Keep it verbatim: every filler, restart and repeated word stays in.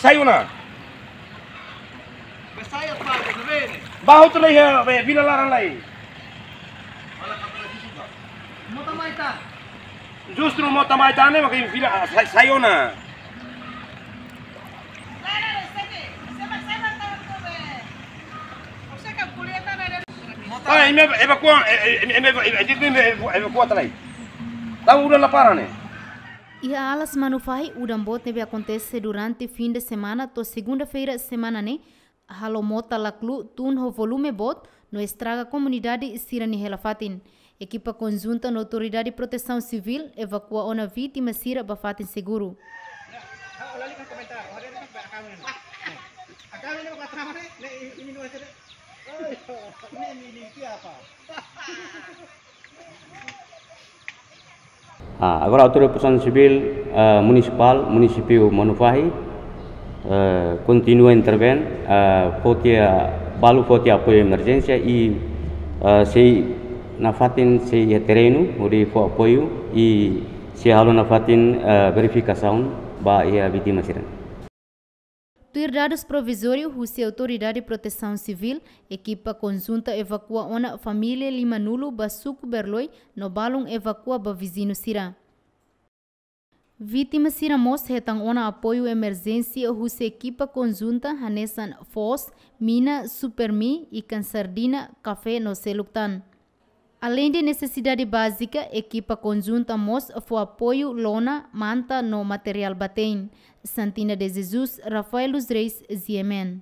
Sai ona. Ba sai apa, ne'ebé ne'e? Ba hotu lai, eh, be vila laran lai. Mota mai ita. Justru mota mai ita ne'e, maka vila, ah, sai, sai ona. Ah, imi evakua, eh, eh, imi evakua, imi evakua tiha lai. Tau udan la para ne'e. Iha Alas Manufahi, udan boot ne'ebé akontese durante fim de semana to'o segunda-feira semana ne'e, halo mota laklu tun ho volume boot no estraga komunidade sira-nia hela-fatin. Ekipa konjunta no Autoridade Protesaun Sivíl evakua ona vítima sira ba fatin seguru. Ah, agora Autoridade Protesaun Sivíl, ah, Munisipál, Munisípiu Manufahi, eh, kontinua intervein, eh, fó tiha, balu fó tiha apoiu emerjénsia i, eh, sei nafatin sei iha terrenu, hodi fó apoiu i sei halo nafatin, eh, verifikasaun ba iha vítima sira. Tuir dadus provizóriu husi Autoridade Protesaun Sivíl, ekipa konjunta evakua ona família limanulu ba suku Berloi no balun evakua ba viziñu sira. Vítima sira mós hetan ona apoiu emerjénsia husi ekipa konjunta hanesan foos, mina, Supermi, ikan sardina, kafé no seluk tan. Aleinde nesesidade bázika, ekipa konjunta mós fó apoiu lona, manta no materiál ba te'in. Santina de Jesus, Rafael dos Reis, G M N.